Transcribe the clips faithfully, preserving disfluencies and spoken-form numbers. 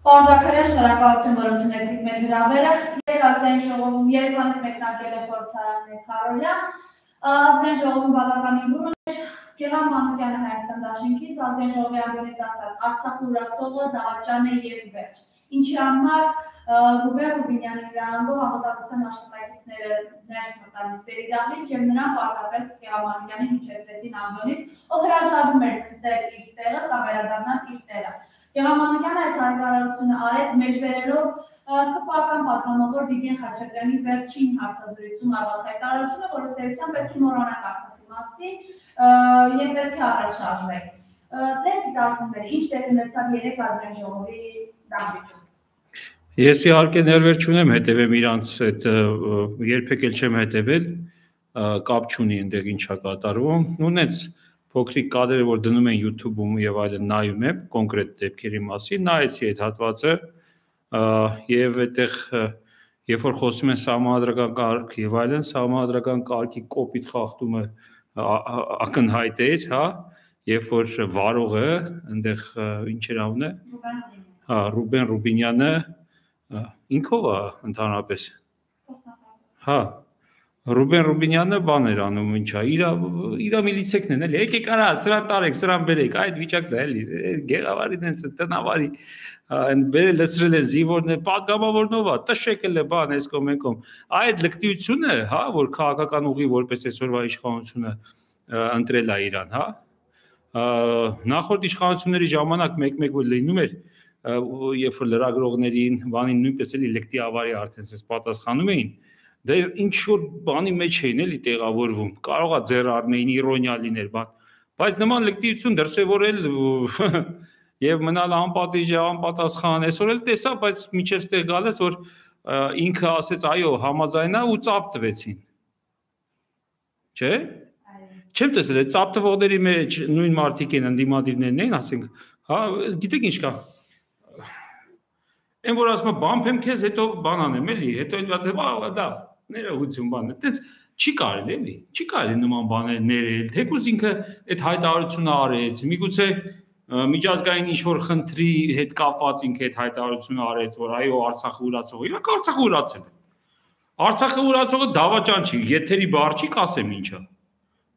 Պարզակրեն շնորհակալություն, որ ընդունեցիք մեր հրավերը։ Ազգային ժողովում Երևանից մեկնարկել է խորհրդարան Քարոլյա։ Ազգային ժողովում բավականին բուռն էր Գեղամ Մանուկյանը Հայաստան դաշինքից, ազգային ժողովի անդամից ասած Արցախի ուրացողը դավաճան է եւ վերջ։ Ինչի համար Ռուբեն Ռուբինյանի դրանով համատակության աշխատակիցները ներս մտան նիստերի դահլիճ եւ նրան պարզապես Գեղամ Մանուկյանին հիշեցրեցին ամբոնից, ով հրաժարվում էր նստել իր տեղը կամ վերադառնալ իր տեղը։ Գեղամ Մանուկյանը այս հայտարարությունը արեց մեջբերելով ԿՊԱ-ական պատգամավոր Վիգեն Խաչատրյանի վերջին հարցազրույցում արված հայտարարությունը, որ ըստ էության պետք է մոռանանք Արցախի մասին եւ պետք է առաջ շարժվենք։ Ձեր դիտարկումները ինչ տեղ ունեցավ երեք ազգային ժողովի դահլիճում։ Ես իհարկե ներվեր չունեմ հետևեմ իրանց այդ երբեք էլ չեմ հետևել, կապ չունի այնտեղ ինչա կատարվում, նույնպես փոքրիկ կադրերը որ դնում են YouTube-ում եւ այլն նայում եմ կոնկրետ դեպքերի մասին, նայեցի այդ հատվածը եւ այդտեղ երբ որ խոսում են սահմանադրական կարգ եւ այլն, սահմանադրական կարգի կոպիտ խախտումը ակնհայտ էր, հա, երբ որ վարողը այնտեղ ինչ էր անունը, հա, Ռուբեն Ռուբինյանը ինքով է ընդհանրապես, հա, Ռուբեն Ռուբինյանը բան էր անում, ինչա, իրա միլիցեքն են, էլի, եկեք արա, սրան տարեք, սրան բերեք, այդ վիճակն է, էլի, գեղավարին են, տնավարի, բերել լսրել են զինվորներ, պատգամավորնով է, տշեք էլ է բան, այս կողմ են կողմ, այդ լկտիությունը, հա, որ քաղաքական ուղի որպես այսօրվա իշխանությունը ընտրել է իրան, հա, նախորդ իշխանությունների ժամանակ մեկ-մեկ որ լինում էր, երբ որ լրագրողներին, բանին նույնպես էլի լկտի ավարի արդեն ես պատասխանում էին, դե ինչ որ բանի մեջ էին էլի տեղավորվում, կարող է ձեռ առնեին, իրոնիա լիներ, բան, բայց նման լկտիություն դրսևորել եւ մնալ անպատիժ, անպատասխան, այսօր էլ տեսա, բայց միջև ստեղ գալես, որ ինքը ասեց, այո, համաձայնա ու ծափ տվեցին։ Չէ՞։ Չեմ տեսել, այդ ծափ տվողների մեջ նույն մարդիկ են, ընդդիմադիրներն են, ասենք, հա, գիտեք ինչ կա։ Այն որ ասում եմ, բամփեմ քեզ, հետո բան անեմ, էլի, հետո էլ դա ներողություն բան է, այդպես չի կարելի էլի, չի կարելի նման բաներ ներել, թեկուզ ինքը այդ հայտարարությունը արեց, միգուցե միջազգային ինչ-որ խնդրի հետ կապված ինքը այդ հայտարարությունը արեց, որ այո Արցախը ուրացողը, իրանք Արցախը ուրացել է։ Արցախը ուրացողը դավաճան չի, եթերի բառ չի, կասեմ ինչա։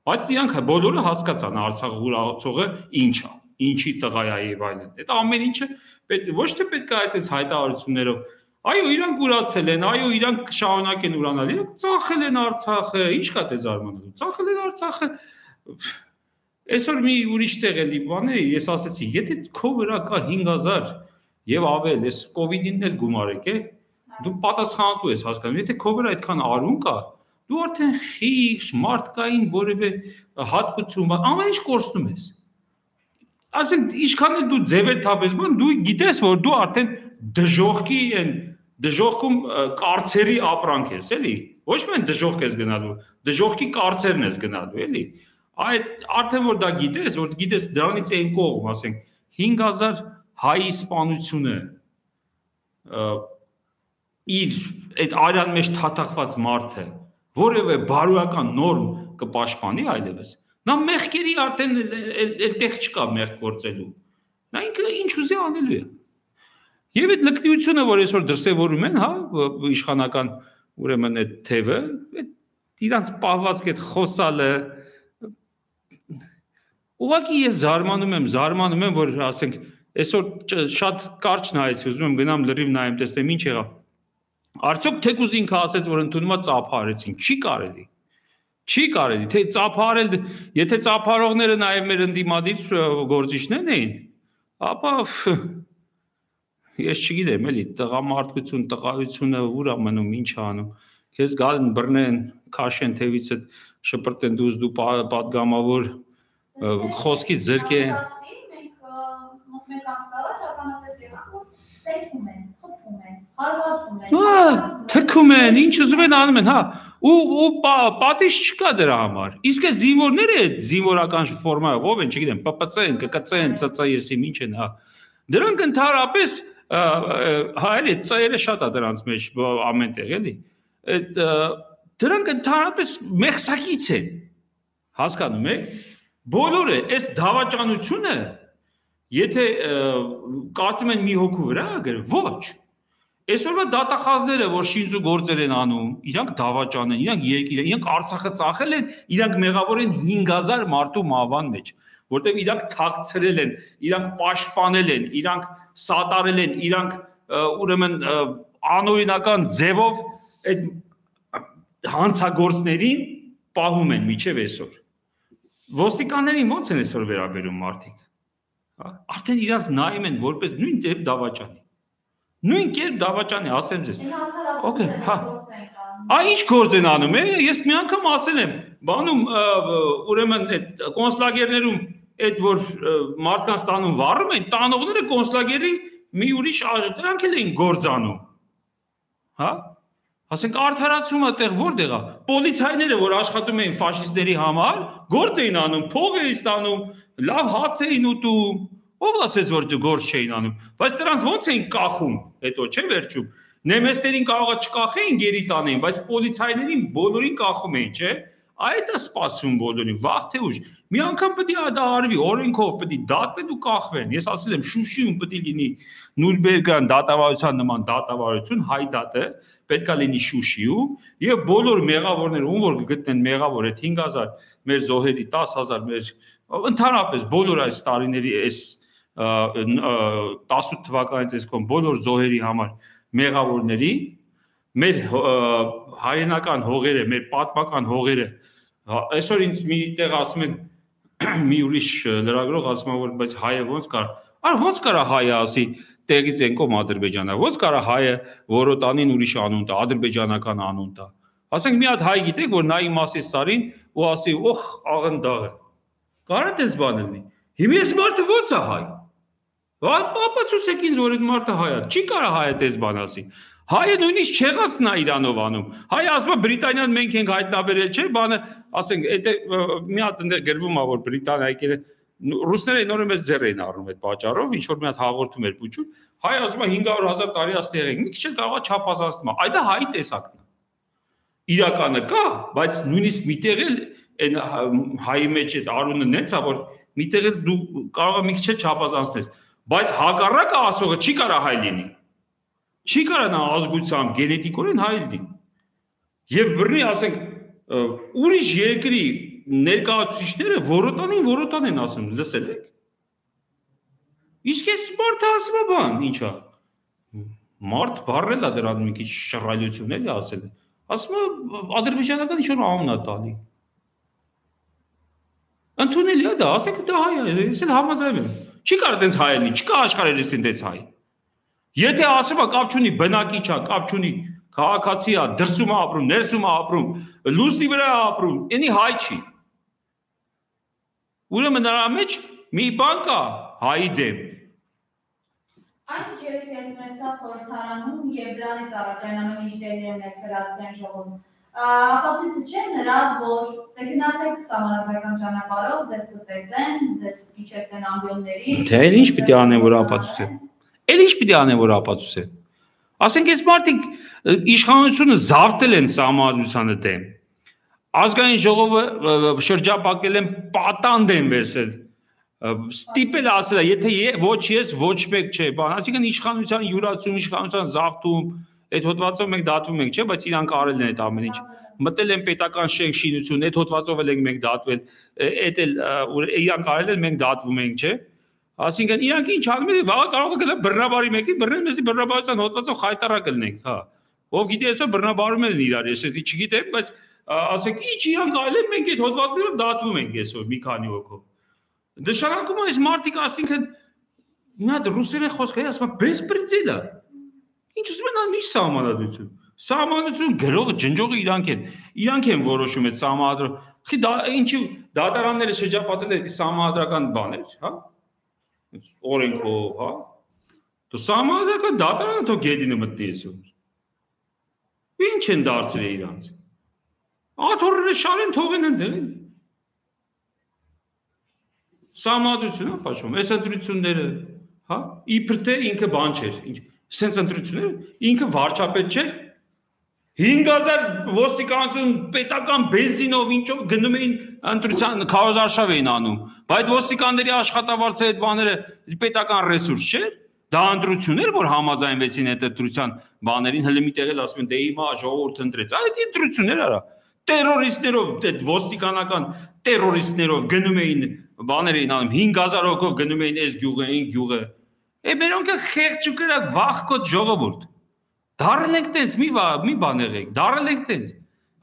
Բայց իրանք բոլորը հասկացան Արցախը ուրացողը ինչ է, ինչի տղա է եւ այլն։ Այդ ամեն ինչը ոչ թե պետք է այդպես հայտարարություններով այո, իրանք ուրացել են, այո, իրանք կշարունակեն ուրանալ, իրանք ծախել են Արցախը, ինչ կա դե զարմանալու, ծախել են Արցախը։ Այսօր մի ուրիշ տեղ էլի բան է, ես ասեցի, եթե քո վրա կա հինգ հազար եւ ավել, ես կովիդին էլ գումարեք, է, դու պատասխանատու ես հասկանում, եթե քո վրա այդքան արուն կա, դու արդեն խիղճ, մարդկային որևէ հատկություն, ամեն ինչ կորցնում ես։ Ասենք, ինչքան էլ դու ձևեր թափես, բան, դու գիտես, որ դու արդեն դժողքի են, դժողքում կարծերի ապրանք ես, էլի, ոչ միայն դժողք ես գնալու, դժողքի կարծերն ես գնալու, էլի, այդ արդեն որ դա գիտես, որ գիտես դրանից այն կողմ, ասենք, հինգ հազար հայի սպանությունը իր այդ արյան մեջ թաթախված մարդը, որևէ բարոյական նորմ կպաշտպանի այլևս, նա մեղքերի արդեն էլ տեղ չկա մեղք գործելու, նա ինքը ինչ ուզի անելու է։ Եվ այդ լկտիությունը, որ այսօր դրսևորում են, հա, իշխանական ուրեմն այդ թևը, իրանց պահվածք այդ խոսալը, ուղղակի ես զարմանում եմ, զարմանում եմ, որ ասենք, այսօր շատ կարճ նայեցի, ուզում եմ գնամ լրիվ նայեմ, տեսնեմ ինչ եղավ։ Արդյոք թեկուզ ինքը ասեց, որ ընդունումա ծափարեցին, չի կարելի։ Չի կարելի, թե ծափարել, եթե ծափարողները նաև մեր ընդդիմադիր գործիչներն էին, ապա ես չգիտեմ, էլի, տղամարդկություն, տղայությունը ուր է մնում, ինչ է անում, քեզ գալն բռնեն, քաշեն թևիցդ, շպրտեն դուզ դու պատգամավոր խոսքից զրկեն։ Թքում են, ինչ ուզում են անում են, հա, ու պատիժ չկա դրա համար, իսկ այդ զինվորները այդ զինվորական ֆորմայով ով են, չգիտեմ, պ պ ցեն, կկ ցեն, ց ց եսիմ ինչ են, հա, դրանք ընդհանրապես, հա, էլի, ծայերը շատ է դրանց մեջ ամեն տեղ, էլի, դրանք ընդհանրապես մեղսակից են, հասկանում եք, բոլորը այս դավաճանությունը Եթե կարծում են մի հոգու վրա ագր, ոչ։ Այսօրվա դատախազները, որ շինձու գործեր են անում, իրանք դավաճան են, իրանք երկիր են, իրանք Արցախը ծախել են, իրանք մեղավոր են հինգ հազար մարդու մահվան մեջ, որտեղ իրանք թաքցրել են, իրանք պաշտպանել են, իրանք սատարել են, իրանք ուրեմն անօրինական ձևով այդ հանցագործներին պահում են միջև այսօր։ Ոստիկաններին ո՞նց են այսօր վերաբերում մարդիկ։ Արդեն իրանք նայում են որպես նույն տեղ դավաճանի։ Նույն կերպ դավաճանի, ասեմ ձեզ։ Okay, հա։ Այ ինչ գործ են անում, ես մի անգամ ասել եմ, բանում ուրեմն այդ կոնսուլագերներում այդ որ մարդկանց տանում վառում են, տանողները կոնսուլագերի մի ուրիշ դրանք էլ էին գործանում։ Հա։ Ասենք արդարացումը տեղ որտեղ է։ Պոլիցայները, որ աշխատում էին ֆաշիստների համար, գործ էին անում, փող էին ստանում, լավ հաց էին ուտում։ Ով ասեց որ գործ չէին անում, բայց դրանց ո՞նց էին կախում, հետո չէ վերջում։ Նեմեսներին կարողա չկախեին գերի տանեին, բայց պոլիցայներին բոլորին կախում էին, չէ։ Այդ է սպասվում բոլորին, վաղ թե ուշ։ Մի անգամ պետք է դա արվի, օրենքով պետք է դատվեն ու կախվեն։ Ես ասել եմ Շուշիում պետք է լինի Նուրնբերգյան դատավարության նման դատավարություն, հայ դատը պետք է լինի Շուշիում, եւ բոլոր մեղավորները, ում որ գտնեն մեղավոր այդ հինգ հազար մեր զոհերի դաս հազար մեր ընդհանրապես բոլոր այս տարիների այս տասութ թվականից այսքան բոլոր զոհերի համար մեղավորների մեր հայրենական հողերը, մեր պատմական հողերը այսօր ինձ մի տեղ ասում են մի ուրիշ լրագրող ասում է որ բայց հայը ո՞նց կար, այ ո՞նց կարա հայը ասի տեղից ենկոմ Ադրբեջանա, ո՞նց կարա հայը որոտանին ուրիշ անուն տա, ադրբեջանական անուն տա։ Ասենք մի հատ հայ գիտեք որ նայի մասի սարին ու ասի օխ աղնդաղը։ Կարա դες բան լինի։ Հիմա ես մարդը ո՞նց է հայ։ Ապացուցեք ինձ որ այդ մարդը հայ է, չի կարա հայը դες բան ասի։ Հայը նույնիսկ չեղածն է Իրանով անում։ Հայը ասում է Բրիտանիան մենք ենք հայտնաբերել, չէ՞, բանը, ասենք, այդ մի հատ այնտեղ գրվում է որ Բրիտանիա եկել է, ռուսները նորը մեծ ձեռ էին առնում այդ պատճառով, ինչ որ մի հատ հաղորդում էր փուչում։ Հայը ասում է հինգ հարյուր հազար տարի աստեղ ենք, մի քիչ էլ կարող է չափազանցնում։ Այդ է հայի տեսակն է։ Իրականը կա, բայց նույնիսկ միտեղ էլ այն հայի մեջ այդ արունը նենց է որ միտեղ էլ դու կարող ես մի քիչ էլ չափազանցնես, բայց հակառակը ասողը չի կարա հայ լինի։ Չի կարա նա ազգությամբ գենետիկորեն հայ լինի։ Եվ բռնի ասենք ուրիշ երկրի ներկայացուցիչները որոտանին որոտան են ասում, լսել եք։ Իսկ այս մարդը ասում է բան, ի՞նչ է։ Մարդ բառել է դրան մի քիչ շռայլություն էլի ասել է։ Ասում է ադրբեջանական ինչ-որ անուն է տալի։ Ընդունելի է դա, ասեք դա հայ է, ես էլ համաձայն եմ։ Չի կարող դենց հայ լինի, չկա աշխարհերից դենց հայ։ Եթե ասում է կապ չունի բնակիչ է, կապ չունի քաղաքացի է, դրսում է ապրում, ներսում է ապրում, լուսնի վրա է ապրում, այնի հայ չի։ Ուրեմն նրա մեջ մի բան կա հայի դեմ։ Այն երեք երկնեցա խորհրդարանում եւ դրանից առաջանալու ինչ դերի ունեցել ազգային ժողովում։ Ապացույցը չէ նրա, որ դե գնացեք սահմանադրական ճանապարհով, ձեզ կծեցեն, ձեզ իջեցնեն ամբիոնների։ Թե ինչ պիտի անեն որ ապացուցեն։ Էլ ինչ պիտի անեն որ ապացուցեն։ Ասենք այս մարդիկ իշխանությունը զավթել են սահմանադրությանը դեմ։ Ազգային ժողովը շրջապատել են պատանդ են վերցել։ Ստիպել ասել է, եթե ոչ ես, ոչ մեկ չէ, բան, այսինքն իշխանության յուրացում, իշխանության զավթում, այդ հոդվածով մենք դատվում ենք, չէ, բայց իրանք արել են այդ ամեն ինչ։ Մտել են պետական շենք շինություն, այդ հոդվածով էլ ենք մենք դատվել, այդ էլ իրանք արել են, մենք դատվում ենք, չէ։ Այսինքն իրանք ինչ անում են, վաղը կարող է գնալ բռնաբարի մեկին, բռնել մեզի բռնաբարության հոդվածով խայտարակ լինենք, հա։ Ով գիտի այսօր բռնաբարում են իրար, ես էսի չգիտեմ, բայց ասենք ինչ իրանք արել են, մենք այդ հոդվածներով դատվում ենք այսօր մի քանի հոգով։ Նշանակում է այս մարդիկ, ասինքն մի հատ ռուսերեն խոսք է, ասում է բեսպրեդել է։ Ինչ ուզում են անում ինչ սահմանադրություն։ Սահմանադրություն գրողը, ջնջողը իրանք են։ Իրանք են որոշում այդ սահմանադրությունը։ Խի դա ինչի դատարանները շրջապատել են այդ սահմանադրական բաներ, հա։ Օրենքով, հա։ Դու սահմանադրական դատարանը թող գեդինը մտնի այսօր։ Ինչ են դարձրել իրանք։ Աթոռները շարեն թողեն ընդդել։ Սահմանադրություն է պաշտում, այս ընտրությունները, հա, իբր թե ինքը բան չէր, սենց ընտրությունները, ինքը վարչապետ չէր, հինգ հազար ոստիկանություն պետական բենզինով ինչով գնում էին ընտրության քարոզարշավ էին անում, Բայց ոստիկանների աշխատավարձը այդ բաները պետական ռեսուրս չէ։ Դա ընտրություններ, որ համաձայնվեցին այդ ընտրության բաներին, հələ մի տեղ էլ ասում են, դե հիմա ժողովուրդը ընտրեց։ Այդ ընտրություններ արա։ Տերորիստներով, այդ ոստիկանական տերորիստներով գնում էին բաներ էին անում, հինգ հազար հոգով գնում էին այս գյուղը, այն գյուղը։ Է մերոնք էլ խեղճուկերակ վախկոտ ժողովուրդ։ Դարել ենք տենց, մի մի բան եղեք, դարել ենք տենց։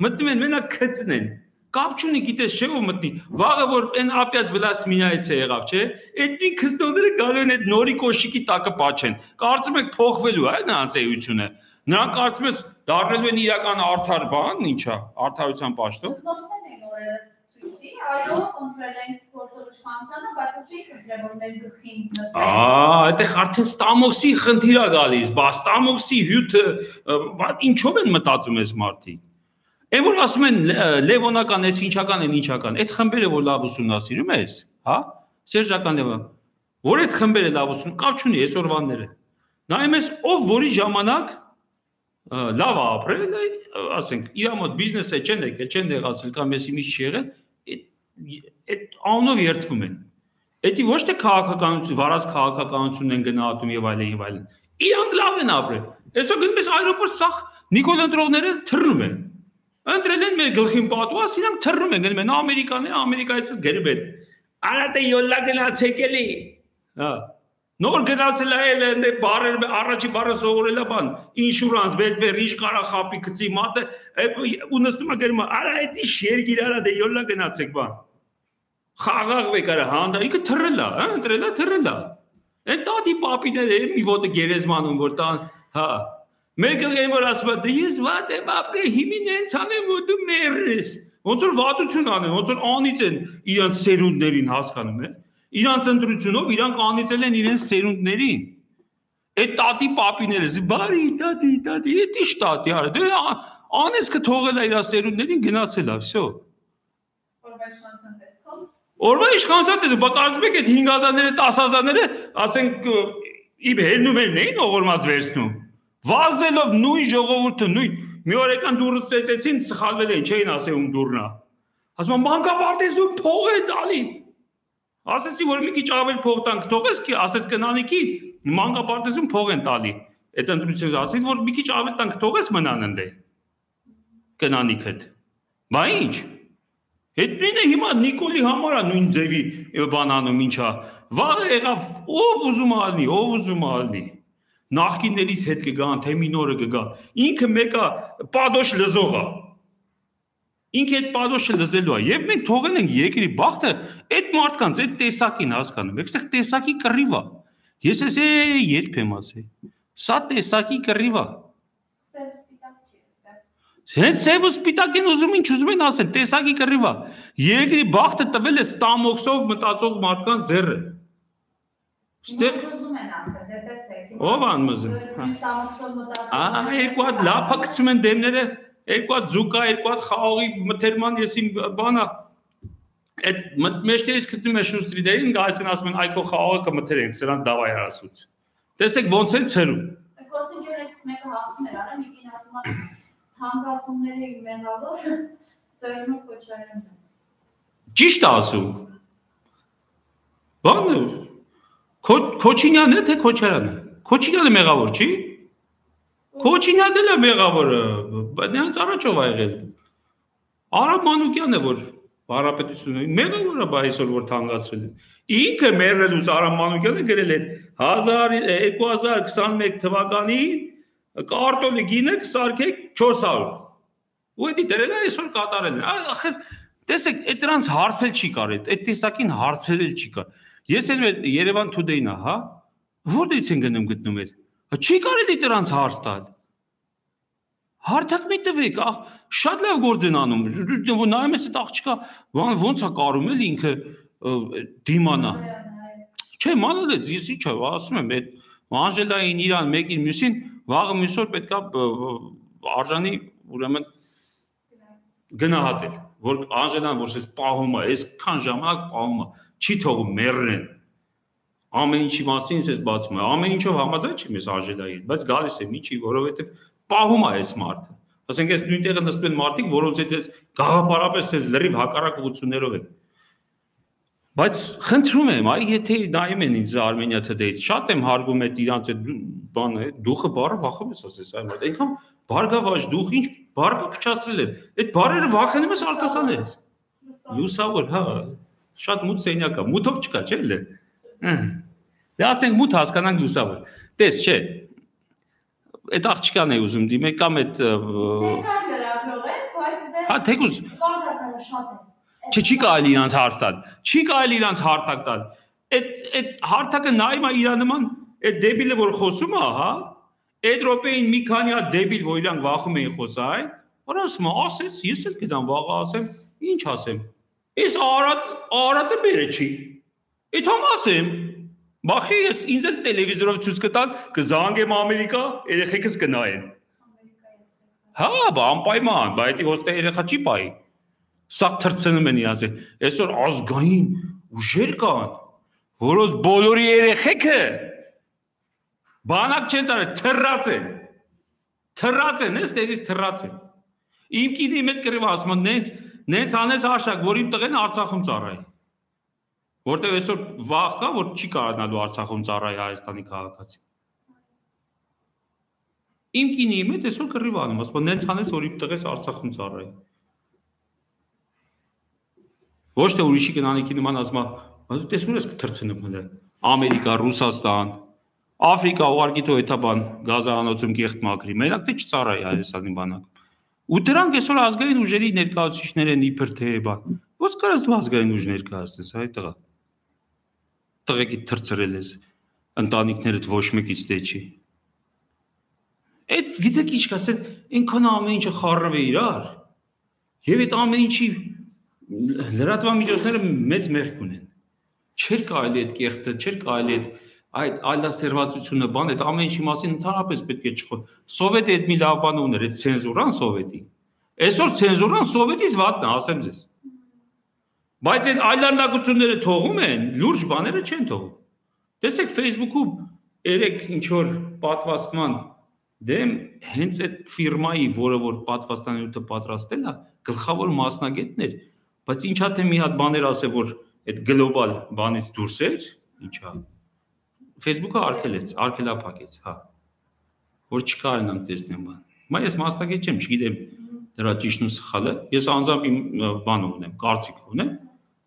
Մտնում են մենակ քծնեն։ Կապ չունի, գիտես չէ՞ որ մտնի։ Վաղը որ այն ապյաց վլասմինայից է եղավ, չէ՞։ Այդ քստոները գալու են այդ նորի կոշիկի տակը պաչեն։ Կարծում եք փոխվելու է նրանց էությունը։ Նրանք կարծում ես դառնելու են իրական արդար բան, ինչա, արդարության պաշտոն։ Նոստեն են օրերս ցույցի, այո, ընտրել են գործող իշխանությանը, բայց չի քրել որ մեր գլխին նստեն։ Ահա, այդտեղ արդեն ստամոքսի խնդիր է գալիս, բա ստամոքսի հյութը, ինչով են մտածում այս մարդիկ։ Այն որ ասում են լևոնական, այս ինչական են, ինչական, այդ խմբերը որ լավ ուսումնասիրում ես, հա, Սերժական Լևոն, որ այդ խմբերը լավ ուսում, կապ չունի այսօրվանները։ Նայում ես, ով որի ժամանակ լավ է ապրել, ասենք, իր մոտ բիզնեսը չեն եկել, չեն եղածել կամ ես իմիջ չի եղել, այդ անունով երդվում են։ Էդի ոչ թե քաղաքականություն, վարած քաղաքականությունն են գնահատում եւ այլն եւ այլն։ Իրանք լավ են ապրել։ Այսօր գնում ես այրոպորտ, սա Նիկոլ ընտրողները թռնում են։ Ընտրել են մեր գլխին պատված, իրանք թռնում են, գնում են Ամերիկաները, Ամերիկայից գերբ են։ Արա դե յոլա գնացեք էլի։ Հա։ Նոր գնացել է էլ ընդ բարեր առաջի բարը սովորել է բան, ինշուրանս, վելֆեր, ինչ կարա խապի գծի մատը, ու նստում է գնում, արա էդի շերգիր արա դե յոլա գնացեք բան։ Խաղաղվեք արա հանդա, ինքը թռել է, հա, ընտրել է, թռել է։ Այն տատի պապիները մի ոտը գերեզմանում որ տան, հա։ Մեր գլխին որ ասում է, դե ես վատ եմ ապրել, հիմին հենց անեմ, որ դու մեռ ես։ Ոնց որ վատություն անեն, ոնց որ անից են իրանց սերունդներին հասկանում ես։ Իրանց ընտրությունով իրանք անիծել են իրենց սերունդներին։ Այդ տատի պապիները, բարի տատի, տատի, էդ ի՞նչ տատի արա։ Դե անեցքը թողել է իր սերունդներին գնացել է, всё։ Օրվա իշխանության տեսքով։ Օրվա իշխանության տեսքով, բա կարծում եք այդ հինգ հազարները, տասը հազարները, ասենք իբ հելնումերն էին ողորմած վերցնում։ Վազելով նույն ժողովուրդը, նույն մի օր եկան դուրս ծեծեցին, սխալվել էին, չէին ասել ում դուրնա։ Ասում են մանկապարտեզում փող է տալի։ Ասեցի որ մի քիչ ավել փող տանք, թողես კი, ասեց կնանիքի, մանկապարտեզում փող են տալի։ Այդ ընտրությունից ասեցի որ մի քիչ ավել տանք, թողես մնան ընդ։ Կնանիքդ։ Բա ինչ։ Այդ նույնը հիմա Նիկոլի համար է նույն ձևի բան անում, ինչա։ Վաղը եղավ, ով ուզում է ալնի, ով ուզում է ալնի։ Նախկիններից հետ կգան, թե մի նորը կգա։ Ինքը մեկը պադոշ լզող է։ Ինքը այդ պադոշը լզելու է։ Եվ մենք թողել ենք երկրի բախտը այդ մարդկանց, այդ տեսակին հասկանում։ Այստեղ տեսակի կռիվ է։ Ես էս երբ եմ ասել։ Սա տեսակի կռիվ է։ Սև սպիտակ չի էստեղ։ Հենց սև ու սպիտակին ուզում ինչ ուզում են ասել, տեսակի կռիվ է։ Երկրի բախտը տվել է ստամոքսով մտածող մարդկանց ձեռը։ Ստեղ ուզում են ապրել, դե տեսեք։ Ով անմզում։ Ստամոքսով մտածող։ Ահա երկու հատ լափա գցում են դեմները, երկու հատ ձուկա, երկու հատ խաղողի մթերման եսի բանա։ Այդ մեջտերից գտնում է շուստրիդերին, գալիս են ասում են այ քո խաղողը կմթերենք, սրան դավայ արասուց։ Տեսեք ոնց են ցերում։ Գործընկերներից մեկը հասնում էր, արա մի կին ասում է հանգացումների մեղավոր Սերժո Քոչարյանն։ Ճիշտ է ասում։ Բանը Քոչինյանն է թե Քոչարյանը։ Քոչինյանը մեղավոր չի։ Քոչինյանն էլ է մեղավորը, նրանց առաջով ա եղել։ Արաբ Մանուկյանն է որ Հանրապետությունը մեղավոր է, բա այսօր որ թանկացրել են։ Ինքը մեռելուց Արաբ Մանուկյանը գրել է երկու հազար քսաներկու թվականին կարտոֆիլի գինը կսարքեք չորս հարյուր։ Ու դա դրել է այսօր կատարել են։ Ախր տեսեք, այդ դրանց հարցել չի կարել, այդ տեսակին հարցել չի կար։ Ես էլ Երևան Today-ն է, հա։ Որտեղից են գնում գտնում էր։ Չի կարելի դրանց հարց տալ։ Հարթակ մի տվեք, շատ լավ գործ են անում։ Նայում ես այդ աղջիկա, ոնց է կարում էլ ինքը դիմանա։ Չէ, մանալեց, ես ի՞նչ եմ, ասում եմ, այդ Անժելային իրան մեկին մյուսին, վաղը մյուս օր պետք է արժանի ուրեմն գնահատել, որ Անժելան որ ես պահում է, այսքան ժամանակ պահում է, չի թողում մեռնեն։ Ամեն ինչի մասին ես բացում եմ, ամեն ինչով համաձայն չեմ ես Անժելային, բայց գալիս եմ ինչի, որովհետև պահում է այս մարդը։ Ասենք ես նույն տեղը նստում են մարդիկ, որոնց հետ ես գաղափարապես ես լրիվ հակառակ ուղղություններով են։ Բայց խնդրում եմ, այ եթե նայում են ինձ Armenia Today-ից, շատ եմ հարգում այդ իրանց այդ բանը, դուխը բառը վախում ես ասես, այ մոտ, այնքան բարգավաճ դուխ ինչ բառը փչացրել են։ Այդ բառերը վախենում ես արտասանես։ Լուսավոր, հա, շատ մութ սենյակ է, մութով չկա, չէ՞ լե։ Դե ասենք մութ հասկանանք լուսավոր։ Տես, չէ։ Այդ աղջկան է ուզում դիմել կամ այդ Հա, թեկուզ շատ է։ Չէ, չի կարելի իրանց հարց տալ։ Չի կարելի իրանց հարթակ տալ։ Այդ այդ հարթակը նայում է իրա նման, այդ դեբիլը որ խոսում է, հա, այդ րոպեին մի քանի հատ դեբիլ, որ իրանք վախում էին խոսալ, որ ասում է, ասեց, ես էլ գիտեմ վաղը ասեմ, ինչ ասեմ։ Ես Արադ Արադը բերե չի։ Այդ համ ասեմ, բախի ես ինձ էլ տելևիզորով ցույց կտան, կզանգեմ Ամերիկա, երեխեքս կնայեն։ Հա, բա անպայման, բայց դա ոստե երեխա չի պայի։ Սա թրցնում են իրանց։ Այսօր ազգային ուժեր կան, որոնց բոլորի երեխեքը բանակ չեն ծարել, թռած են։ Թռած են, ես դերից թռած են։ Իմ կինի մեծ կրիվա ասում են, նենց նենց անես աշակ, որ իմ տղեն Արցախում ծառայի։ Որտեւ այսօր վաղ կա, որ չի կարողանալու Արցախում ծառայի Հայաստանի քաղաքացի։ Իմ կինի մեծ այսօր կրիվա անում, ասում են, նենց անես, որ իմ տղես Արցախում ծառայի։ Ոչ թե ուրիշի կնանիքի նման ասում է, տեսնում ես կթրցնում հələ Ամերիկա, Ռուսաստան, Աֆրիկա ուղարկի թո էթա բան գազանոցում կեղտ մակրի, մենակ թե չծառայի Հայաստանի բանակում։ Ու դրանք այսօր ազգային ուժերի ներկայացուցիչներ են իբր թե բան։ Ո՞ց կարաս դու ազգային ուժ ներկայացնես, այ տղա։ Տղեկի թրցրել ես, ընտանիքներդ ոչ մեկից դե չի։ Այդ գիտեք ինչ կասեն, այնքան ամեն ինչը խառնվ է իրար։ Եվ այդ ամեն ինչի լրատվամիջոցները մեծ մեղք ունեն։ Չէր կարելի այդ կեղտը, չէր կարելի այդ այդ այլասերվածությունը բան, այդ ամեն ինչի մասին ընդհանրապես պետք է չխոսել։ Սովետը այդ մի լավ բան ուներ, այդ ցենզուրան սովետի։ Այսօր ցենզուրան սովետից վատն է, ասեմ ձեզ։ Բայց այդ այլանդակությունները թողում են, լուրջ բաները չեն թողում։ Տեսեք Facebook-ում երեք ինչ որ պատվաստման դեմ հենց այդ ֆիրմայի, որը որ պատվաստանյութը պատրաստել է, գլխավոր մասնագետներ, բայց ինչա թե մի հատ բաներ ասե, որ այդ գլոբալ բանից դուրս էր, ինչա։ Facebook-ը արկելեց, արկելափակեց, հա։ Որ չկարողանամ տեսնեմ բան։ Մա ես մասնագետ չեմ, չգիտեմ դրա ճիշտն ու սխալը։ Ես անձամբ իմ բան ունեմ, կարծիք ունեմ,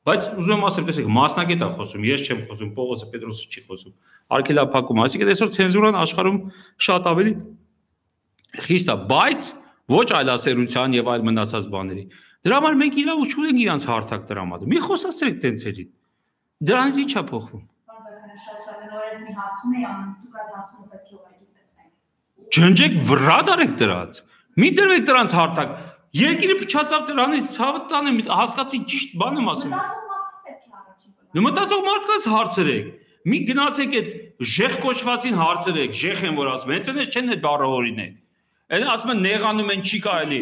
բայց ուզում եմ ասեմ, տեսեք, մասնագետ է խոսում, ես չեմ խոսում, Պողոսը Պետրոսը չի խոսում։ Արկելափակում, այսինքն այսօր ցենզուրան աշխարհում շատ ավելի խիստ է, բայց ոչ այլասերության եւ այլ մնացած բաների։ Դրա համար մենք իրավունք չունենք իրանց հարթակ տրամադրել։ Մի խոսացրեք տենցերին։ Դրանից ի՞նչ է փոխվում։ Մի հարցում էի անում, դուք այդ հարցումը պետք է ուղղակի տեսնեք։ Ջնջեք վրա դարեք դրանց։ Մի դրվեք դրանց հարթակ։ Երկիրը փչացավ դրանից, ցավը տանեմ, հասկացի ճիշտ բան եմ ասում։ Մտածող մարդը պետք է առաջին գնա։ Մտածող մարդկանց հարցրեք։ Մի գնացեք այդ ժեղ կոչվածին հարցրեք, ժեղ են որ ասում, հենց այնպես չեն այդ բառավորին է։ Այն ասում են նեղանում են չի կարելի։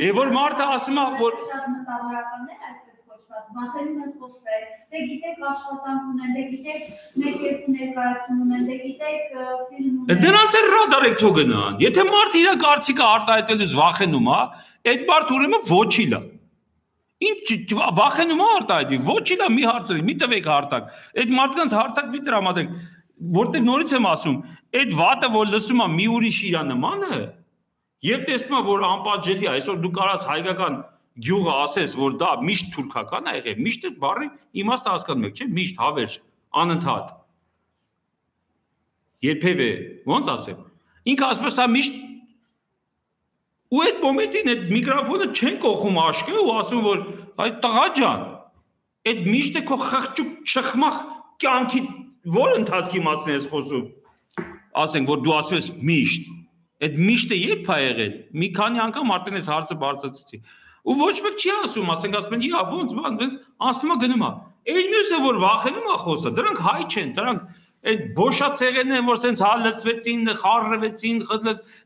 Եվ որ մարդը ասում է, որ շատ մտավորականներ այսպես կոչված, մատերում են խոսել, դե գիտեք աշխատանք ունեն, դե գիտեք մեկ-երկու ներկայացում ունեն, դե գիտեք ֆիլմ ունեն։ Դրանց էլ ռադարեք թող գնան։ Եթե մարդը իր կարծիքը արտահայտելուց վախենում է, այդ մարդը ուրեմն ոչիլ է։ Ինչ վախենում է արտահայտի, ոչիլ է, մի հարցրեք, մի տվեք հարթակ։ Այդ մարդկանց հարթակ մի տրամադրեք, որտեղ նորից եմ ասում, այդ վատը որ լսում է մի ուրիշ իր նմանը, եւ տեսնում է որ անպատժելի է, այսօր դու կարաս հայկական գյուղը ասես, որ դա միշտ թուրքական է եղել, միշտ այդ բառի իմաստը հասկանում եք, չէ՞, միշտ հավերժ, անընդհատ։ Երբևէ, ոնց ասեմ, ինքը ասում է սա միշտ ու այդ մոմենտին այդ միկրոֆոնը չեն կողում աշկը ու ասում որ այդ տղա ջան, այդ միշտ է քո խղճուկ չխմախ կյանքի որ ընթացքի մասն ես խոսում։ Ասենք որ դու ասում ես միշտ, այդ միշտը երբ է եղել։ Մի քանի անգամ արդեն այս հարցը բարձրացրեցի։ Ու ոչ մեկ չի ասում, ասենք ասում են, «Իա, ոնց բան, անցնում է գնում է»։ Այն մյուսը որ վախենում է խոսա, դրանք հայ չեն, դրանք այդ բոշացեղերն են, որ սենց հալեցվեցին, խառնվեցին,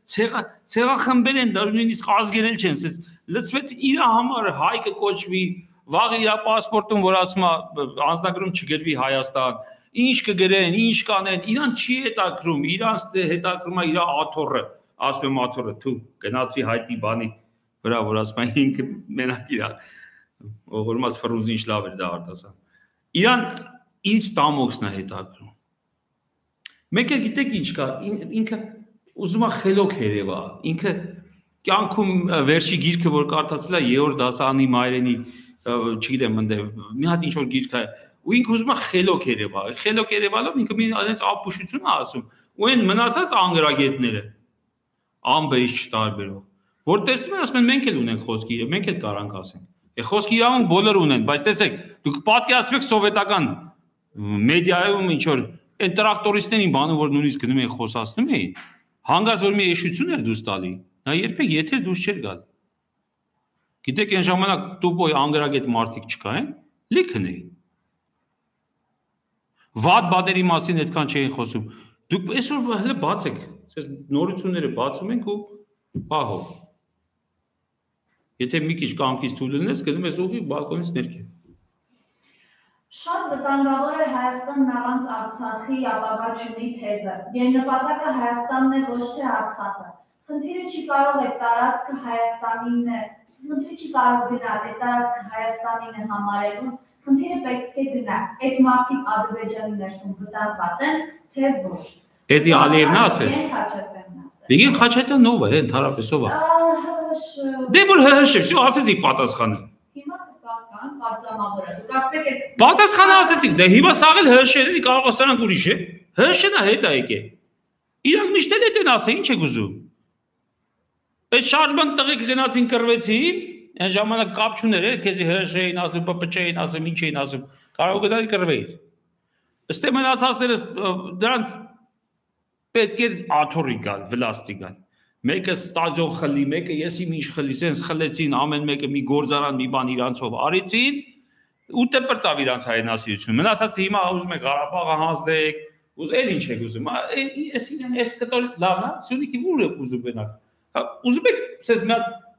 ցեղա ցեղախմբեր են, նույնիսկ ազգերել չեն, սենց լցվեցին իր համար հայ կկոչվի, վաղ իր պասպորտում, որ ասում է անձնագրում չգրվի Հայաստան, ինչ կգրեն, ինչ կանեն, իրան չի հետաքրում, իրանց հետաքրում է իր աթոռը, ասում եմ աթոռը, թու, գնացի հայտի բանի վրա, որ ասում է ինքը մենակ իր ողորմած ֆրունզի ինչ լավ էր դա արտասան։ Իրան ինչ տամոքսն է հետաքրում։ Մեկը գիտեք ինչ կա, ինքը ուզում է խելոք երևա, ինքը կյանքում վերջի գիրքը, որ կարդացել է երրորդ դասարանի մայրենի, չգիտեմ, ընդ մի հատ ինչ որ գիրք է, ու ինքը ուզում է խելոք երևա, խելոք երևալով ինքը մի այնպես ապուշություն է ասում, ու այն մնացած անգրագետները ամբեից չտարբերող, որ տեսնում են, ասում են մենք էլ ունենք խոսքի, մենք էլ կարանք ասենք։ Է խոսքի իրավունք բոլորը ունեն, բայց տեսեք, դուք պատկերացրեք սովետական մեդիայում ինչ որ այն տրակտորիստներին բանը որ նույնիսկ գնում էին խոսացնում էին, հանգած որ մի էշություն էր դուրս տալի, նա երբեք եթե դուրս չէր գալ։ Գիտեք այն ժամանակ տուպոյ անգրագետ մարդիկ չկային, լիքն էին։ Վատ բադերի մասին այդքան չէին խոսում։ Դուք այսօր հələ բացեք, ասես նորությունները բացում ենք ու պահով։ Եթե մի քիչ կամքից թույլ լինես, գնում ես ուղիղ բալկոնից ներքև։ Շատ վտանգավոր է Հայաստանն առանց Արցախի ապագա չունի թեզը։ Գերնպատակը Հայաստանն է, ոչ թե Արցախը։ Խնդիրը չի կարող է տարածքը Հայաստանին է, խնդիրը չի կարող գնալ, է տարածքը Հայաստանին է համարելու, խնդիրը պետք է գնա։ Այդ մարդիկ Ադրբեջանի ներսում վտանգված են, թե ոչ։ Էդի Ալիևն ասել։ Վիգեն Խաչատյանն ով է, ընդհանրապես ով է։ Դե որ հհշ, всё ասեցի պատասխանը։ Հիմա կան պատգամավորը։ Դուք ասեք եք պատասխանը ասեցիք, դե հիմա սաղել հհշ-երին կարող է սրանք ուրիշ է։ հհշ-ն է հետ է եկել։ Իրանք միշտ էլ էտեն ասեն, ինչ եք ուզում։ Այդ շարժման տղեկ գնացին կռվեցին, այն ժամանակ կապ չուներ, քեզի հհշ-էին ասում, պպչ-էին ասում, ինչ էին ասում, կարող գնալ կռվեիր։ Ըստ մնացածները դրանց պետք է աթոռի գալ, վլաստի գալ։ Մեկը ստադիոն խլի, մեկը ես իմ ինչ խլի, սենց խլեցին, ամեն մեկը մի գործարան, մի բան իրանցով արեցին, ու տպրծավ իրանց հայրենասիրությունը։ Մնացածը հիմա ուզում եք Ղարաբաղը հանձնեք, ուզ էլ ինչ եք ուզում, այս այս կտոր լավն է, Սյունիքի ուր եք ուզում գնալ։ Ուզում եք սենց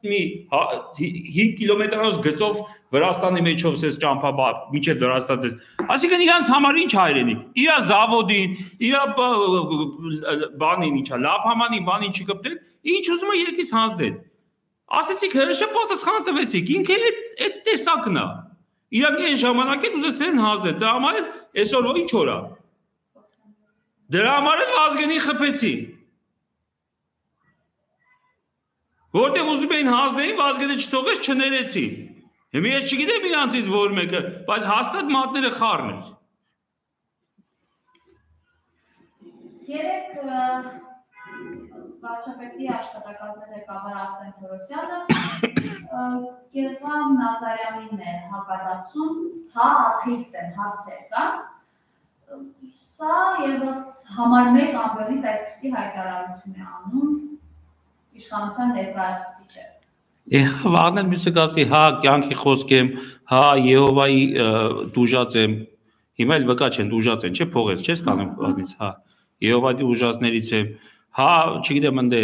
մի հինգ կիլոմետրանոց գծով Վրաստանի մեջով սես ճամփաբար, միջև Վրաստան դες։ Այսինքն իրանց համար ինչ հայրենիք։ Իրա զավոդին, իրա բանին ինչա, լափամանի բանին չկպտել, ինչ ուզում է երկից հանձնել։ Ասեցիք հրշը պատասխանը տվեցիք, ինքը այդ տեսակն է։ Իրանք այն ժամանակ էլ ուզեցին հանձնել, դրա համար էլ այսօր ինչ օր է։ Դրա համար էլ Վազգենին խփեցին։ Որտեղ ուզում էին հանձնեին, Վազգենը չթողեց, չներեցին։ Հիմա ես չգիտեմ իրանցից որ մեկը, բայց հաստատ մատները խառն էր։ Երեք վարչապետի աշխատակազմի ղեկավար Արսեն Թորոսյանը Գերվամ Նազարյանին է հակադարձում, հա աթեիստ են, հարցեր կան։ Սա ևս համար մեկ ամբողջից այսպիսի հայտարարություն է անում իշխանության ներկայացուցիչը։ Հա, վաղն մյուսը կասի, հա, կյանքի խոսք եմ, հա, Եհովայի դուժած եմ, հիմա էլ վկա չեն, դուժած են, չէ, փողեց, չէ, ստանում վաղնից, հա, Եհովայի դուժածներից եմ, հա, չգիտեմ, ընդ է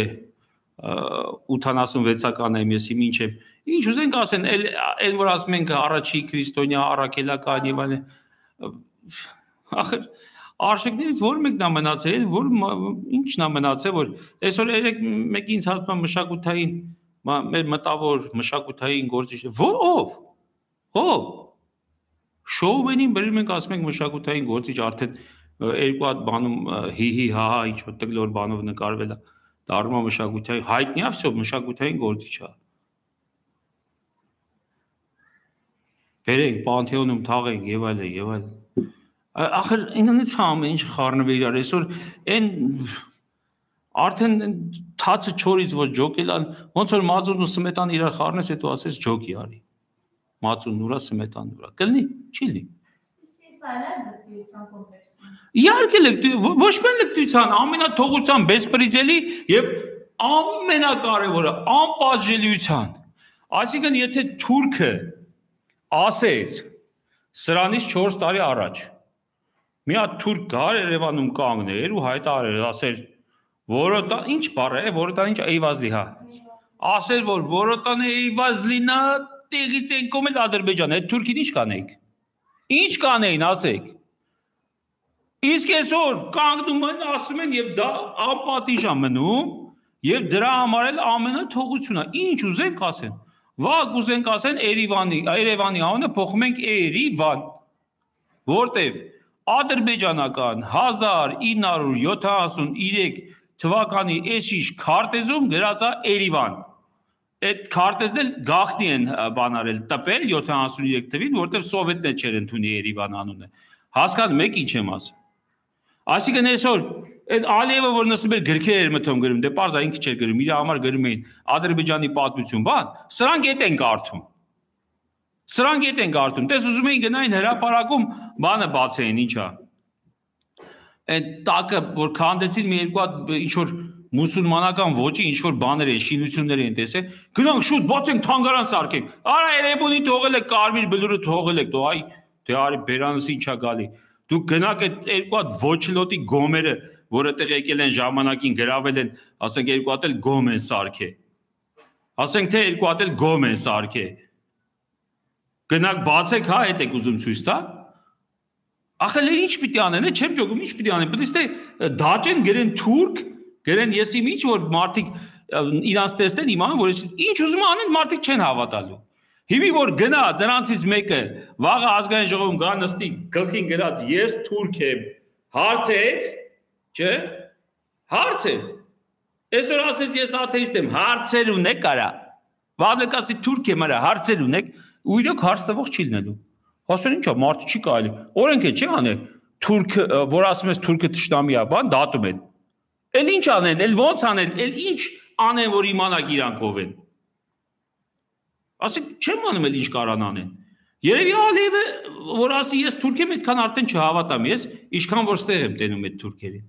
ութանասունվեցական եմ, ես իմ ինչ եմ, ինչ ուզենք ասեն, այն որ ասում ենք առաջի քրիստոնյա, առաքելական եւ այլն, ախր արժեքներից որ մեկն է մնացել, որ ինչն է մնացել, որ այսօր երեք մեկի ինձ հարցնում է մշակութային մեր մտավոր մշակութային գործիչ ով ով շոուվենին բերում ենք ասում ենք մշակութային գործիչ արդեն երկու հատ բանում հի-հի հա-հա ինչ որ տգլոր բանով նկարվել է դառնում է մշակութային հայտնի է всё մշակութային գործիչ է բերենք պանթեոնում թաղենք եւ այլն եւ այլն ախր ինքնից ամեն ինչ խառնվել իրար այսօր այն արդեն թացը չորից ոչ ջոկելան ոնց որ մածուն ու սմետան իրար խառնես հետո ասես ջոկի արի մածուն ուրա սմետան ուրա կլինի չի լինի իհարկե ոչ միայն լկտության ամենաթողության բեսպրիձելի եւ ամենակարևորը անպատժելիության այսինքն եթե թուրքը ասեր սրանից չորս տարի առաջ մի հատ թուրք գար Երևանում կանգներ ու հայտարարեր ասեր Որոտան ինչ բառ է, որոտան ինչ Էյվազլի, հա։ Ասել որ որոտան Էյվազլինա տեղից են կոմել Ադրբեջան, այդ թուրքին ինչ կանեիք։ Ինչ կանեին, ասեք։ Իսկ այսօր կանգնում են, ասում են եւ դա անպատիժ է մնում եւ դրա համար էլ ամենը թողությունն է։ Ինչ ուզենք ասեն։ Վաղ ուզենք ասեն Երևանի, Երևանի անունը փոխում ենք Երևան։ որտեվ ադրբեջանական հազար ինը հարյուր յոթանասունութրեք թվականի էշիշ քարտեզում գրած է Երևան։ Այդ քարտեզն էլ գաղտնի են բանարել տպել յոթանասունութրեք թվին, որտեվ սովետներ չեր ընդունի Երևան անունը։ Հասկանում եք ինչ եմ ասում։ Այսինքն այսօր այդ Ալիևը որ նստում էր գրքեր էր մտում գրում, դե պարզ է ինքը չէր գրում, իր համար գրում էին Ադրբեջանի պատմություն, բան, սրանք էդ են կարդում։ Սրանք էդ են կարդում։ Տես ուզում էին գնային հրապարակում, բանը բացեին, ինչա։ Այդ տակը որ քանդեցին մի երկու հատ ինչ որ մուսուլմանական ոճի ինչ որ բաներ են, շինություններ են տեսել, գնանք շուտ բացենք թանգարան սարքենք։ Արա Երևանի թողել եք կարմիր բլուրը թողել եք, դու այ դե արի բերանս ինչա գալի։ Դուք գնաք այդ երկու հատ ոչլոտի գոմերը, որը տեղ եկել են ժամանակին գրավել են, ասենք երկու հատ էլ գոմ են սարքե։ Ասենք թե երկու հատ էլ գոմ են սարքե։ Գնաք բացեք, հա, այդ եք ուզում ցույց տա։ Ախել ինչ պիտի անեն, չեմ ճոգում, ինչ պիտի անեն, պետք է դաճեն գրեն թուրք, գրեն ես իմ ինչ որ մարդիկ իրանց տեսնեն իմանան, որ ինչ ուզում անեն մարդիկ չեն հավատալու։ Հիմի որ գնա դրանցից մեկը վաղը ազգային ժողովում գա նստի գլխին գրած ես թուրք եմ, հարցեր, չէ՞, հարցեր։ Այսօր ասեց ես աթեիստ եմ, հարցեր ունեք արա։ Վաղը կասի թուրք եմ արա, հարցեր ունեք, ու իրոք հարց տվող չի լինելու։ Ասեն ինչա, մարդը չի կարելի։ Օրենք է չի անել, թուրք, որ ասում ես թուրքը թշնամի է, բան դատում են։ Էլ ինչ անեն, էլ ոնց անեն, էլ ինչ անեն, որ իմանաք իրանք ով են։ Ասենք չեմ անում էլ ինչ կարան անեն։ Երևի Ալիևը որ ասի ես թուրք եմ, այդքան արդեն չհավատամ ես, ինչքան որ ստեղ եմ տենում այդ թուրքերին։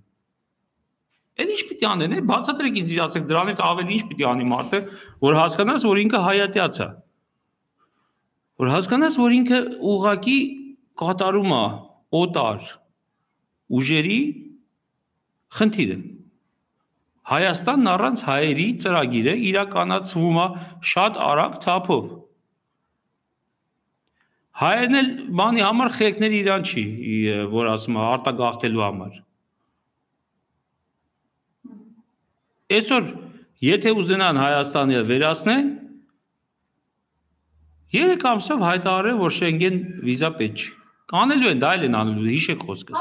Էլ ինչ պիտի անեն, բացատրեք ինձ ասեք դրանից ավելի ինչ պիտի անի մարդը, որ հասկանաս, որ ինքը հայատյաց է։ Որ հասկանաս, որ ինքը ուղղակի կատարում է օտար ուժերի խնդիրը։ Հայաստանն առանց հայերի ծրագիրը իրականացվում է շատ արագ թափով։ Հայերն էլ բանի համար խելքների իրան չի, որ ասում է արտագաղթելու համար։ Այսօր, եթե ուզենան Հայաստանը վերացնեն, երեք ամսով հայտարարել, որ Շենգեն վիզա պետք չի։ Կանելու են, դա էլ են անելու, հիշեք խոսքս։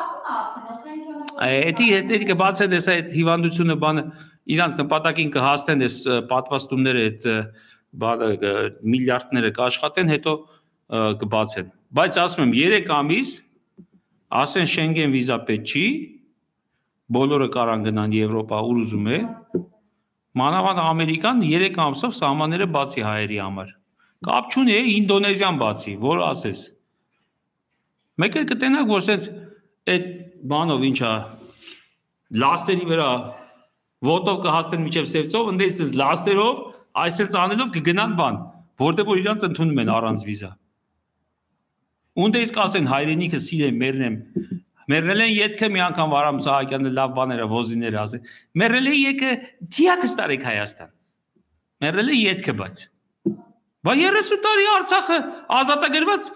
Էդի հետի կբացեն ես այդ հիվանդությունը բանը իրանց նպատակին կհաստեն ես պատվաստումները այդ բանը միլիարդները կաշխատեն, հետո կբացեն։ Բայց ասում եմ երեք ամիս ասեն Շենգեն վիզա պետք չի, բոլորը կարան գնան Եվրոպա, ուր ուզում է։ Մանավանդ Ամերիկան երեք ամսով սահմանները բացի հայերի համար։ Կապ չունի է Ինդոնեզիան բացի, որ ասես։ Մեկ էլ կտենակ, որ սենց այդ բանով ինչա լաստերի վրա ոտով կհաստեն միջև սևծով, ընդե սենց լաստերով, այսենց անելով կգնան բան, որտեղ որ իրանց ընդունում են առանց վիզա։ Ունդեից կասեն հայրենիքը սիրեմ, մերնեմ, մերնել են ետքը մի անգամ Վարամ Սահակյանը լավ բաները, ոզիները ասեն, մերնել է եկը դիակս տարեք Հայաստան, մերնել է ետքը բայց, բա երեսուն տարի Արցախը ազատագրված,